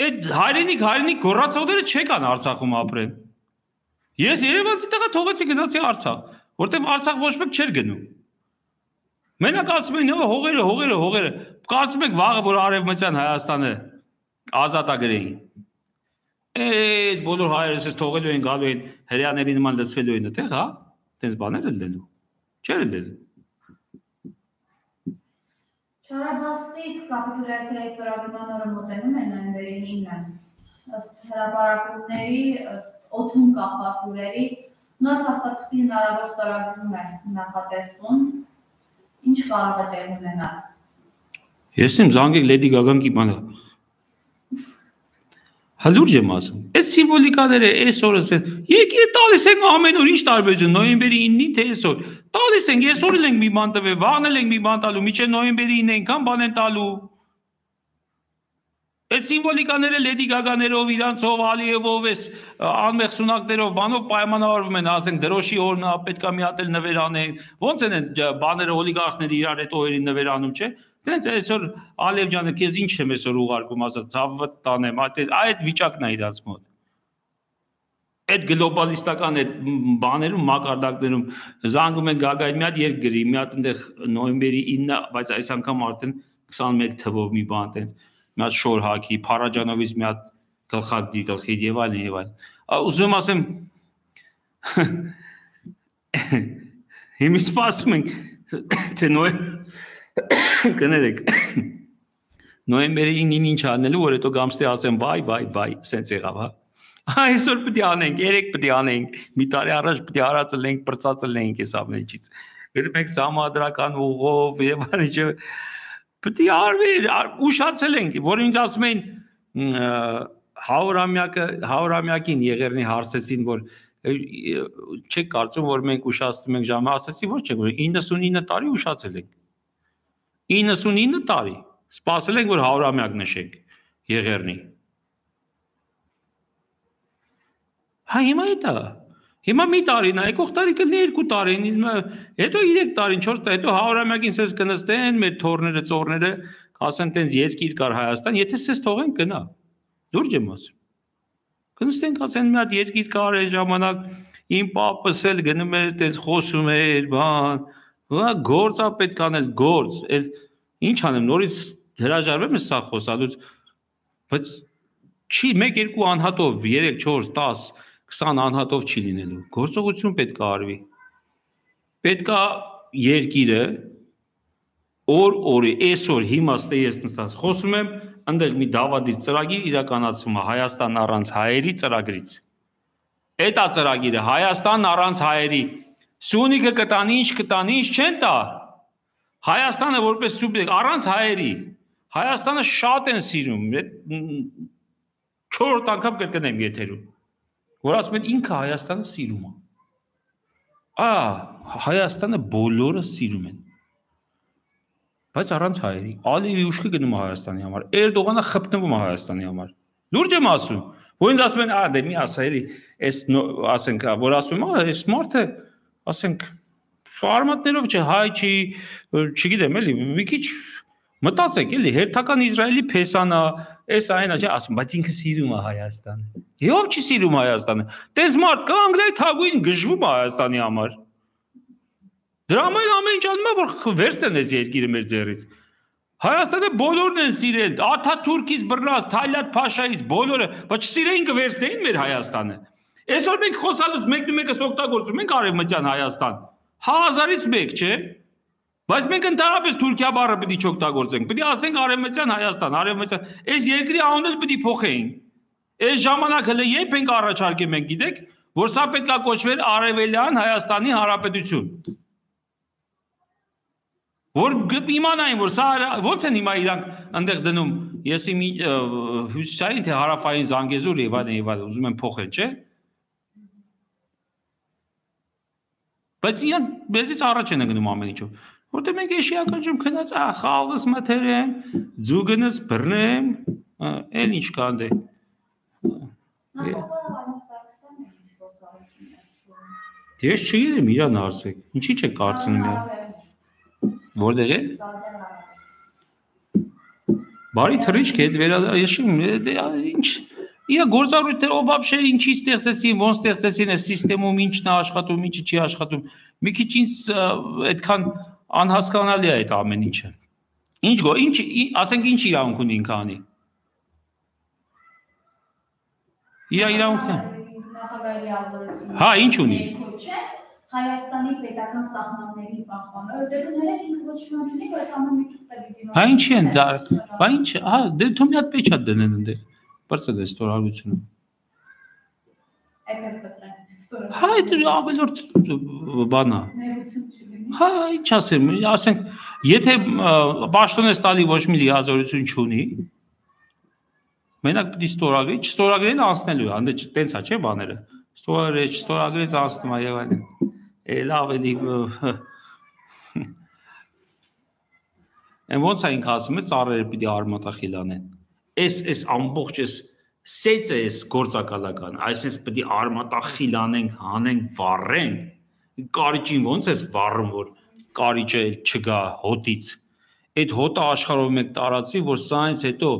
այդ հայրենիք, հայրենիք գոռացողները չեկան Արցախում ապրեն, ես երևանցի տղա թողեցի գնացի Արցախ, որտև Արցախ ոչ մեկ չէր գնում, մենակ ասում են հողերը, հողերը, հողերը, կարծում եք վաղը, որ արևմտյան Հայաստանը ազատագրեին, այդ բոլոր հայերս ես թողելու են գալու են հրեաների նման լծվելու են այդտեղ, հա, տենց բաներ էլ դելու, չէր դելու։ Չարաբաստիկ կապիտուլյացիայի ստորագրման օրը մոտենում են նոյեմբերի ինը, ըստ հրապարակումների, ըստ օդում կախված լուրերի, նոր փաստաթղթի հնարավոր ստորագրում է նախատեսվում, ինչ կարող է տեղի ունենալ։ Ես եմ զանգեք Լեդի Գագան կիմանա։ Հալուրջ եմ ասում, այդ սիմվոլիկաները այսօրս են, եկի տալիս ենք ամեն օր ինչ տարբերություն, նոյեմբերի ինը թե այսօր, տալիս ենք, այսօր էլ ենք մի բան տվել, վաղն էլ ենք մի բան տալու, մինչև նոյեմբերի ինը այնքան բան են տալու։ Այդ սիմվոլիկաները Լեդի Գագաներով, իրանցով, Ալիևով, էս անմեղ սունակներով, բանով պայմանավորվում են, ասենք դրոշի օրն է, պետք է մի հատ էլ նվեր անեն, ոնց են այդ բաները օլիգարխները իրար այդ օրերին նվեր անում, չէ։ Դենց այսօր Ալիև ջանը քեզ ինչ եմ այսօր ուղարկում ասած, ցավը տանեմ, այդ վիճակն է իրանց մոտ։ Այդ գլոբալիստական այդ բաներում, մակարդակներում զանգում են Գագային մի հատ երգ գրի, մի հատ այնտեղ նոյեմբերի ինը, բայց այս անգամ արդեն քսանմեկ թվով մի բան տենց, մի հատ շոր հակի, Փարաջանովից մի հատ գլխակդի գլխի եւ այլն եւ այլն։ Ուզում ասեմ հիմա սպասում ենք թե նոյ կներեք նոյեմբերի ինին ինչ անելու որ հետո գամստի ասեմ վայ վայ վայ սենց եղավ հա այսօր պետք է անենք երեք պետք է անենք մի տարի առաջ պետք է արածելենք բրծածելենք այս ամենից գնում ենք համադրական ուղով եւ այլն պետք է արվի ուշացել ենք որ ինձ ասում են հարյուրամյակը հարյուրամյակին Եղեռնի հարցեցին որ չեք կարծում որ մենք ուշացնում ենք ժամը ասեցի ոչ չէ որ իննսունինը տարի ուշացել ենք իննսունինը տարի սպասել ենք որ հարյուրամյակ նշենք Եղեռնի հա հիմա դա հիմա մի տարին է եկող տարի կլինի երկու տարին հետո երեք տարին չորս տարի հետո հարյուրամյակին սես կնստեն մեր թորները ծորները ասեն տենց երկիր կար Հայաստան եթե սես թողենք գնա լուրջ եմ ասում կնստենք ասեն մի հատ երկիր կար այն ժամանակ իմ պապս էլ գնում էր տենց խոսում էր բան գործա պետք անել գործ էլ ինչ անեմ նորից հրաժարվեմ ես սա խոսալուց բայց չի մեկ երկու անհատով երեք չորս տաս քսան անհատով չի լինելու գործողություն պետք է արվի պետք է երկիրը օր օրի այսօր հիմա ստե ես նստած խոսում եմ ընդել մի դավադիր ծրագիր իրականացվում է Հայաստան առանց հայերի ծրագրից Էտա ծրագիրը Հայաստան առանց հայերի Սյունիքը կտան ինչ կտան ինչ չեն տա Հայաստանը որպես սուբյեկտ առանց հայերի Հայաստանը շատ են սիրում չորրորդ անգամ կրկնեմ եթերում որ ասում են ինքը Հայաստանը սիրում է ա Հայաստանը բոլորը սիրում են բայց առանց հայերի Ալիևի ուշքի գնում է Հայաստանի համար Էրդողանը խփնվում է Հայաստանի համար լուրջ եմ ասում որ ինձ ասում են ա դե մի ասայելի այս ասենք որ ասում եմ ա այս մարդը ասենք արմատներով չէ հայ չի չգիտեմ էլի մի քիչ մտածեք էլի հերթական Իսրայելի փեսանա այս այնա չէ ասում բայց ինքը սիրում է Հայաստանը ով չի սիրում Հայաստանը տես մարդ կա անգլիայի թագուհին գժվում է Հայաստանի համար դրա համար ամեն ինչ անում է որ վերցնեն այս երկիրը մեր ձեռից Հայաստանը բոլորն են սիրել Աթաթուրքից բռնած Թալյատ Փաշայից բոլորը բայց սիրեին կվերցնեին մեր Հայաստանը այսօր մենք խոսալուց մեկն ու մեկս օգտագործում ենք արևմտյան Հայաստան հազարից մեկ չէ բայց մենք ընդհանրապես Թուրքիա բառը պետք է չօգտագործենք պետք է ասենք արևմտյան Հայաստան արևմտյան այս երկրի անունը պետք է փոխեին այս ժամանակ հələ երբ ենք առաջարկել մենք գիտեք որ սա պետք է կոչվեր Արևելյան Հայաստանի Հանրապետություն որ իմանային որ սա ո՞նց են հիմա իրանք այնտեղ դնում ես իմ հյուսիսային թե հարավային Զանգեզուր եւ այլն եւ այլն ուզում եմ փոխել չէ բայց իրանք մեզից առաջ են գնում ամեն ինչով որտեղ մենք էշիական ջում քնած ա խաղս մթերեմ ձուգնս բռնեմ էլ ինչ կա դե Ես չգիտեմ իրան արսեք ինչի՞ չեք կարծնում յա Որտեղ է Բարի թռիչք է վերադաշում ինչ Իա գործառույթները вообще ինչի ստեղծեցին ոնց ստեղծեցին այս համակարգում ինչն է աշխատում ինչը չի աշխատում մի քիչ ինձ այդքան անհասկանալի է այդ ամեն ինչը Ինչ գո ինչ ասենք ինչ իրավունք ունի ինքը անի Իա իրավունք նախագահի ազդեցություն Հա ինչ ունի Հայաստանի պետական սահմանների պահպանը, որտեղ դեռ ինքը ոչ մի բան չունի, բայց ամեն մի թուղթը Հա ինչի են դա, բա ինչ, հա դե թող մի հատ պեչատ դնեն այնտեղ։ Բարձր է ստորագրությունը։ Այդ կտրեն։ Հա դա ավելորդ բանա։ Հա ինչ ասեմ, ասենք, եթե պաշտոնես տալի ոչ մի լիազորություն չունի, մենակ պիտի ստորագրի, չստորագրելը անցնելու է, հանդե տենց է, չէ բաները։ Ստորագրի, չստորագրից անցնում է եւ այլն։ Էլ ավելի Են ոնց է ինքը ասում է ծառերը պիտի արմատախիլ անեն Էս էս ամբողջ էս սեծը էս գործակալական այսպես պիտի արմատախիլ անենք հանենք վառենք կարիճին ոնց էս վառում որ կարիճը չգա հոտից Այդ հոտը աշխարհով մեկ տարածի որ սա ինձ հետո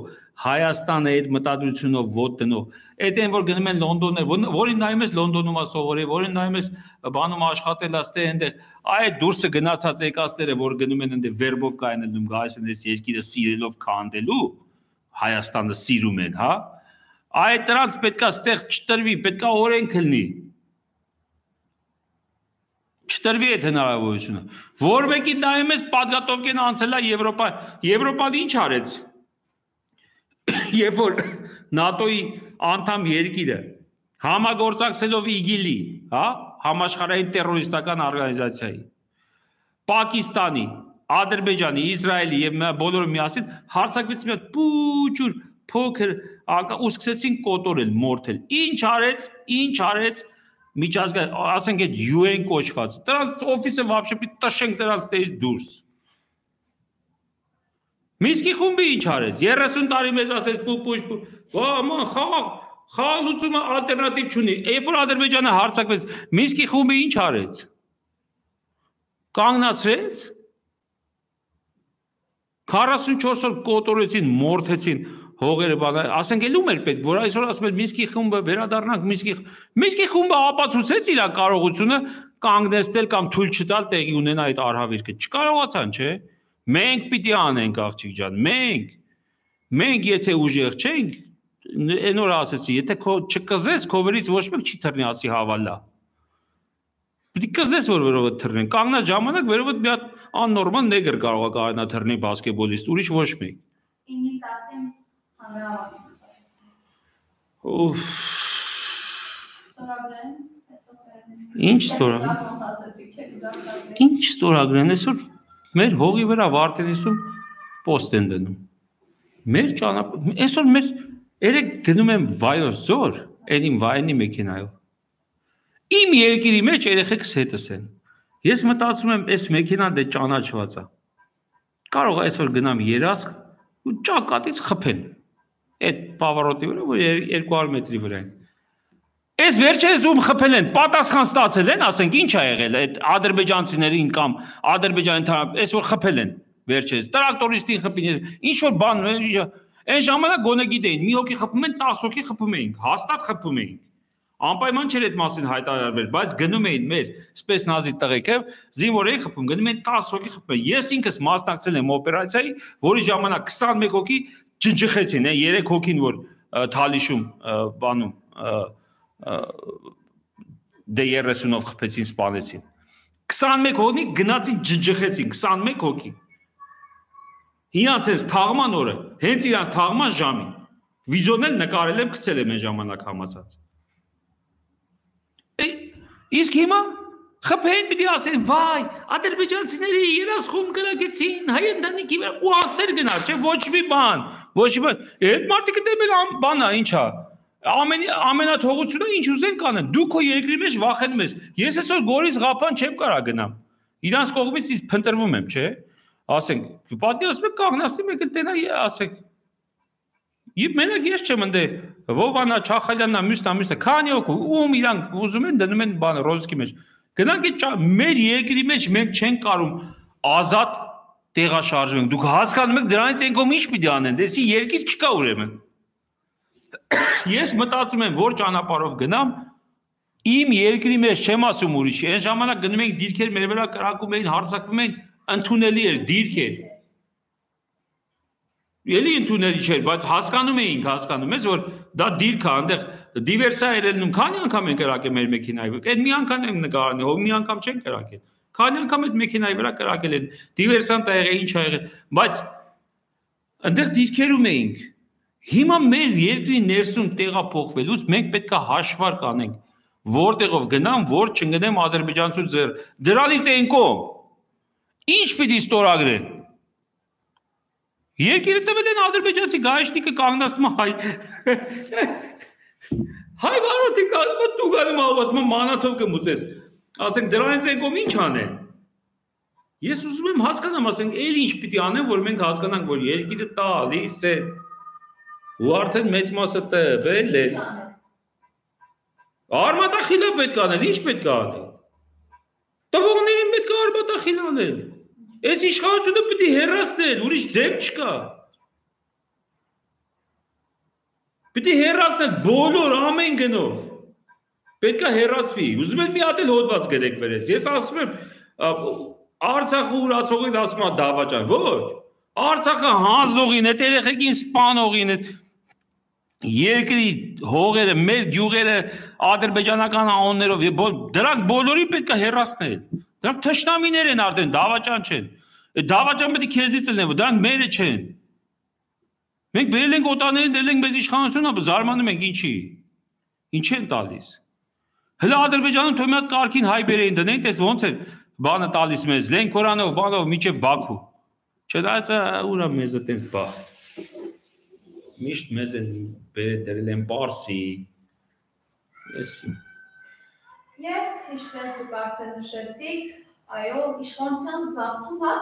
Հայաստանը այդ մտադրությունով ոտ դնով Այդ են որ գնում են Լոնդոններ որին նայում ես Լոնդոնում է սովորել որին նայում ես բանում աշխատել աստե այնտեղ այդ դուրսը գնացած եկածները որ գնում են այնտեղ վերբով կայնելնում գայս են այս երկիրը սիրելով քանդելու Հայաստանը սիրում են հա Այդ դրանց պետքա ստեղ չտրվի, պետքա օրենք լինի։ Չտրվի այդ հնարավորությունը։ Որ մեկի նայում ես պատգատովկեն անցել է Եվրոպա, Եվրոպան ինչ արեց։ Երբ որ նատոյի անդամ երկիրը համագործակցելով իգիլի, հա, համաշխարհային տերորիստական օրգանիզացիայի, Պակիստանի, Ադրբեջանի, Իսրայելի եւ բոլորը միասին հարձակվեցին մի հատ փուճուր փոքր ու սկսեցին կոտորել, մորթել։ Ինչ արեց, ինչ արեց միջազգային, ասենք այդ յու են կոչված։ Դրանց օֆիսը вообще պիտի տշենք դրանց տես դուրս։ Միսկի խումբը ինչ արեց։ երեսուն տարի մեզ ասեց պուպուշ, «Ո, ման, խաղ, խաղ լուծումը ալտերնատիվ չունի»։ Երբ որ Ադրբեջանը հարձակվեց, Միսկի խումբը ինչ արեց։ Կանգնացրեց։ քառասունչորս օր կոտորեցին, մորթեցին հողերը բանը, ասենք էլ ում էր պետք, որ այսօր ասում են Միսկի խումբը վերադառնանք Միսկի Միսկի խումբը ապացուցեց իր կարողությունը կանգնեցնել կամ թույլ չտալ տեղի ունենա այդ արհավիրքը։ Չկարողացան, չէ՞։ Մենք պիտի անենք աղջիկ ջան, մենք։ Մենք եթե ուժեղ չենք, այն օր ասեցի, եթե քո չկզես, քո վերից ոչ մեկ չի թռնի ասի հավալա։ Պիտի կզես, որ վերովդ թռնեն։ Կանգնած ժամանակ վերովդ մի հատ աննորմալ նեգր կարող է կարողանա թռնի բասկետբոլիստ, ուրիշ ոչ մեկ։ ինը տասին հանրահավաք։ Ուֆ։ Ստորագրեն, Ինչ ստորագրեն։ Ինչ ստորագրեն, այսօր մեր հողի վրա Վարդենիսում պոստ են դնում։ Մեր ճանապարհ, այսօր մեր երեք գնում եմ վայոց ձոր, այն իմ վայնի մեքենայով։ Իմ երկիրի մեջ երեխեքս հետս են։ Ես մտածում եմ, այս մեքենան դե ճանաչված է։ Կարող է այսօր գնամ երասք ու ճակատից խփեն։ Այդ պավարոտի վրա, որ երկու հարյուր մետրի վրա են։ Այս վերջերս ում խփել են, պատասխան ստացել են, ասենք ինչ ա եղել, այդ ադրբեջանցիներին կամ ադրբեջանի թարմ, այս որ խփել են վերջերս, տրակտորիստին խփին, ինչ որ բան, այն ժամանակ գոնե գիտեին, մի հոգի խփում են, տասը հոգի խփում էինք, հաստատ խփում էինք։ Անպայման չէր այդ մասին հայտարարվել, բայց գնում էին մեր սպեցնազի տղեկը, զինվորների խփում, գնում էին տասը հոգի խփում։ Ես ինքս մասնակցել եմ օպերացիայի, որի ժամանակ քսանմեկ հոգի ջջխեցին, երեք հոգին որ Թալիշում բանում դե երեսունով խփեցին, սպանեցին։ քսանմեկ հոգի գնացին ջջխեցին, քսանմեկ հոգի։ Իրանց այս թաղման օրը, հենց իրանց թաղման ժամին, վիդեոն էլ նկարել եմ, գցել եմ այն ժամանակ համացած։ Իսկ հիմա խփեն պիտի ասեն, վայ, ադրբեջանցիների երասխում կրակեցին, հայ ընտանիքի վրա ու անցներ գնալ, չէ, ոչ մի բան, ոչ մի բան։ Այդ մարդիկը դեմել բանա, ինչա։ Ամենաթողությունը ինչ ուզեն կանեն, դու քո երկրի մեջ վախենում ես։ Ես այսօր Գորիս Ղափան չեմ կարա գնամ։ Իրանց կողմից ես փնտրվում եմ, չէ։ Ասենք, պատկերացնում եք կանգնացնի մեկ էլ տենա ասեք։ Իբ մենակ ես չեմ ընդ Վովանա, Չախալյաննա, մյուսնա, մյուսնա, քանի օք ում իրանք ուզում են դնում են բանը ռոզկի մեջ։ Գնանք այդ մեր երկրի մեջ մենք չենք կարում ազատ տեղաշարժվենք։ Դուք հասկանում եք դրանից են կողմ ինչ պիտի անեն, դեսի երկիր չկա ուրեմն։ Ես մտածում եմ, որ ճանապարհով գնամ, իմ երկրի մեջ չեմ ասում ուրիշի, այն ժամանակ գնում ենք դիրքեր մեր վրա կրակում էին, հարձակվում էին, ընդունելի էր դիրքեր։ Էլի ընդունելի չէր, բայց հասկանում էինք, հասկանում ես, որ դա դիրք է, այնտեղ դիվերսիա էր ելնում, քանի անգամ են կրակել մեր մեքենայի վրա։ Այդ մի անգամ են նկարන්නේ, հո մի անգամ չեն կրակել։ Քանի անգամ այդ մեքենայի վրա կրակել են, դիվերսանտ ա եղել, ինչ ա եղել, բայց այնտեղ դիրքերում էինք։ Հիմա մեր երկրի ներսում տեղափոխվելուց մենք պետք է հաշվարկ անենք, որտեղով գնամ, որ չընկնեմ ադրբեջանցու ձեռ։ Դրանից են կողմ։ Ինչ պիտի ստորագրեն։ Երկիրը տվել են ադրբեջանցի գայշնիկը կանգնացնում հայ։ Հայ բարոթի կանգնում դու գալու ասում մանաթով կմուծես։ Ասենք դրանից են կողմ ինչ անեն։ Ես ուզում եմ հասկանամ, ասենք, էլ ինչ պիտի անեն, որ մենք հասկանանք, որ երկիրը տալիս է։ Ու արդեն մեծ մասը տվել է։ Արմատախիլը պետք է անել, ինչ պետք է անել։ Տվողներին պետք է արմատախիլ անել։ Այս իշխանությունը պիտի հեռացնել, ուրիշ ձև չկա։ Պիտի հեռացնել բոլոր ամեն գնով։ Պետք է հեռացվի։ Ուզում եմ մի հատ էլ հոդված գրեք վերես։ Ես ասում եմ Արցախը ուրացողին ասում է դավաճան, ոչ։ Արցախը հանձնողին է, երեխեքին սպանողին է։ երկրի հողերը, մեր գյուղերը ադրբեջանական անուններով դրանք բոլորի պետք է հեռացնել։ Դրանք թշնամիներ են արդեն, դավաճան չեն։ Այդ դավաճան պետք է քեզից լինեն, դրանք մերը չեն։ Մենք բերել ենք օտարներին, դել ենք մեզ իշխանությունը, զարմանում ենք ինչի։ Ինչ են տալիս։ Հələ Ադրբեջանում թող մի հատ կարգին հայ բերեին դնեն, տես ոնց է բանը տալիս մեզ, Լենքորանով, բանով միջև Բաքու։ Չնայած ուրա մեզ է տենց բախտ։ Միշտ մեզ են դրել են Պարսի, էսի։ Եվ ինչպես դուք արդեն նշեցիք, այո, իշխանության զավթումը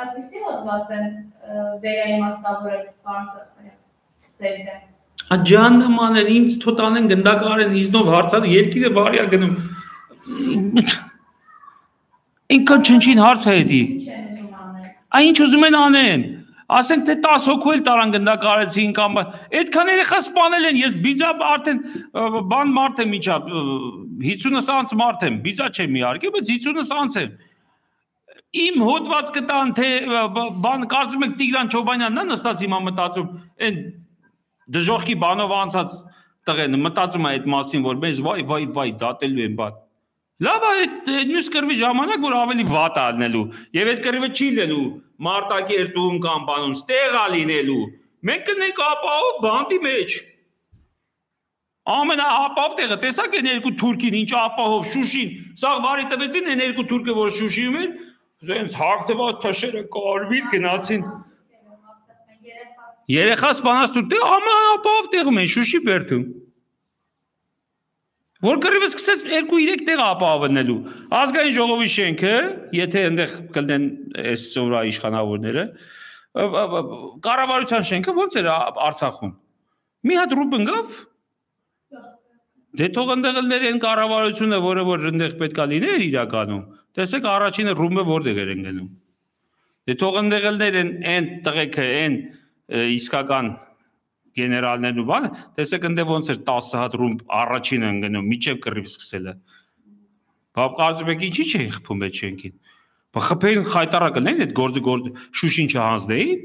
այդպիսի հոդված են վերաիմաստավորել ձեր դեմ։ Աջանման են, ինձ թոտ անեն գնդակար են, իզնով հարցան, երկիրը վարյա գնում։ Ինքան չնչին հարց է հետի։ Այն ինչ ուզում են անեն։ Ասենք թե տասը հոգու էլ տարան գնդակարեցին կամ այդքան երեխա սպանել են, ես բիձա արդեն բան մարդ եմ իջա, հիսունը անց մարդ եմ, բիձա չեմ իհարկե, բայց հիսունը անց եմ։ Իմ հոդված կտան, թե բան կարծում եք Տիգրան Չոբանյանն է նստած հիմա մտածում, այն դժոխքի բանով անցած տղեն մտածում է այդ մասին, որ մեզ վայ վայ վայ դատելու են բան։ Լավ է այդ մյուս կռվի ժամանակ, որ ավելի վատ է լինելու, եւ այդ կռիվը չի լինելու Մարտակերտում կամ բանում, ստեղ է լինելու։ Մենք կնենք ապահով բանդի մեջ։ Ամենաապահով տեղը, տեսակ են երկու թուրքին, ինչ ապահով Շուշին, սա վարի տվեցին են երկու թուրքը, որ Շուշիում են, զենց հագնված թշերը կարմիր գնացին։ Երեխա սպանած դու տեղ ամենաապահով տեղում են Շուշի բերդում։ Որ կռիվը սկսեց երկու երեք տեղ ապահովելու։ Ազգային ժողովի շենքը, եթե այնտեղ կլինեն այս սովրա իշխանավորները, կառավարության շենքը ո՞նց էր Արցախում։ Մի հատ ռուբ ընկավ։ Դե թող այնտեղ լիներ այն կառավարությունը, որը որ այնտեղ պետքա լիներ իրականում։ Տեսեք առաջինը ռումբը որտեղ էր ընկնում։ Դե թող այնտեղ լիներ այն տղեկը, այն իսկական գեներալներն ու բանը, տեսեք ընդ ոնց էր տասը հատ ռումբ առաջինը ընկնում, միջև կռիվ սկսելը։ Բա կարծում եք ինչի չէին խփում այդ շենքին։ Բա խփեին խայտարակը նեն այդ գործը գործ Շուշին չհանձնեին։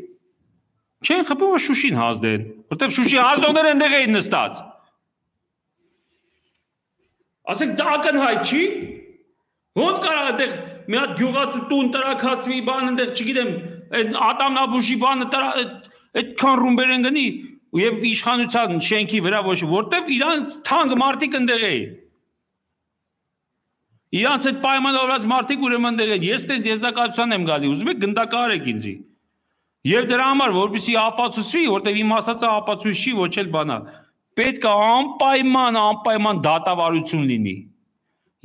Չեն խփում, որ Շուշին հանձնեն, որտեղ Շուշի հանձնողները այնտեղ էին նստած։ Ասեք դա ակնհայտ չի։ Ոնց կարող այդտեղ մի հատ գյուղացու տուն տրակացվի, բան այնտեղ, չգիտեմ, այդ Ատամնաբուժի բանը այդքան ռումբեր են գնի եւ իշխանության շենքի վրա ոչ որտեվ իրանց թանկ մարդիկ ընդեղ էին։ Իրանց այդ պայմանավորված մարդիկ ուրեմն ընդեղ են։ Ես տես եզակացության եմ գալի, ուզում եք գնդակարեք ինձի։ Եվ դրա համար որպեսզի ապացուցվի, որտեվ իմ ասածը ապացույց չի, ոչ էլ բանա։ Պետք է անպայման, անպայման դատավարություն լինի։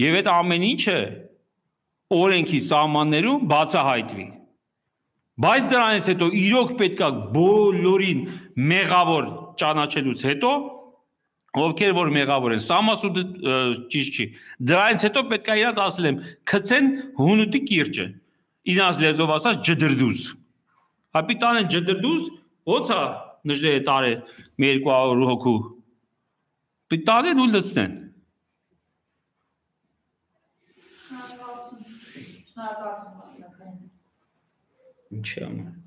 Եվ այդ ամեն ինչը օրենքի սահմաններում բացահայտվի։ Բայց դրանից հետո իրոք պետք է բոլորին մեղավոր ճանաչելուց հետո, ովքեր որ մեղավոր են, սամասուդը ճիշտ չի, դրանից հետո պետք է իրանց ասել եմ, քցեն հունուտի կիրճը, իրանց լեզվով ասած ջդրդուզ, հապիտան են ջդրդուզ, ոնց է նժդերը տարե մի երկու հարյուր հոգու, պիտան են ու լցնեն։ Շնորհակալություն, շնորհակալություն։ Ինչ է անում։